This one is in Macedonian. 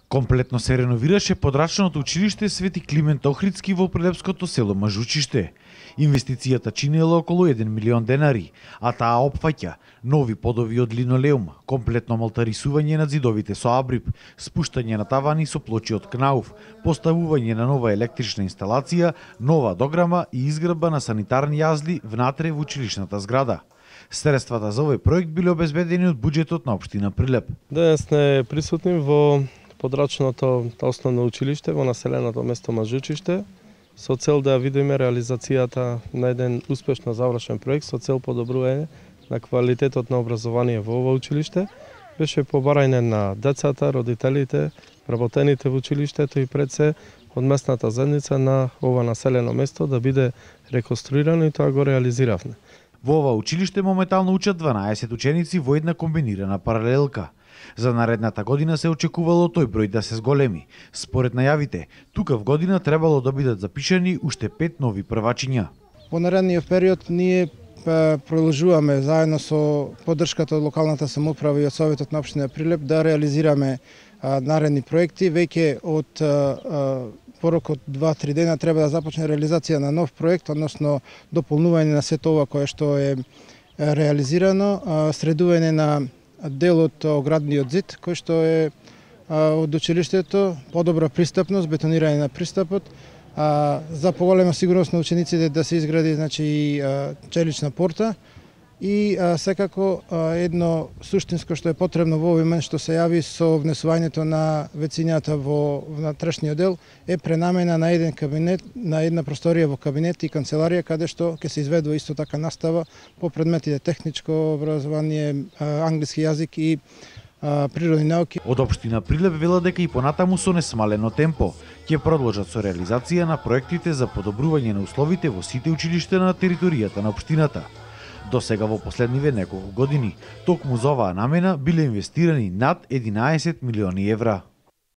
Комплетно се реновираше подрачното училиште Свети Климент Охридски во прилепското село Мажучиште. Инвестицијата чинела околу 1 милион денари, а таа опфаќа нови подови од линолеум, комплетно малтарисување на зидовите со абрип, спуштање на тавани со плочи од кнауф, поставување на нова електрична инсталација, нова дограма и изградба на санитарни јазли внатре во училишната зграда. Средствата за овој проект биле обезбедени од буџетот на општина Прилеп. Денес сме присутни во подрачното основно училиште во населеното место Мажучиште со цел да видиме реализацијата на еден успешно завршен проект со цел подобрување на квалитетот на образование во ова училиште. Беше побарање на децата, родителите, вработените во училиштето и пред се од местната заедница на ова населено место да биде реконструирано и тоа го реализиравме. Во ова училиште моментално учат 12 ученици во една комбинирана паралелка. За наредната година се очекувало тој број да се зголеми. Според најавите, тука в година требало да бидат запишани уште 5 нови првачиња. Во наредниот период ние продолжуваме заедно со поддршката од локалната самоуправа и од Советот на општина Прилеп да реализираме наредни проекти. Веќе од порок од 2-3 дена треба да започне реализација на нов проект, односно дополнување на сето ова кое што е реализирано, средување на делот оградниот зид кој што е од училиштето, подобра пристапност, бетонирање на пристапот, за поголема сигурност на учениците да се изгради челична порта и секако едно суштинско што е потребно во овој момент што се јави со внесувањето на вецињата во внатрешниот дел е пренамена на еден кабинет, на една просторија во кабинет и канцеларија каде што ќе се изведува исто така настава по предметите техничко образование, англиски јазик и природни науки. Од општина Прилеп велат дека и понатаму со несмалено темпо ќе продолжат со реализација на проектите за подобрување на условите во сите училишта на територијата на општината. До сега во последниве неколку години, токму за оваа намена биле инвестирани над 11 милиони евра.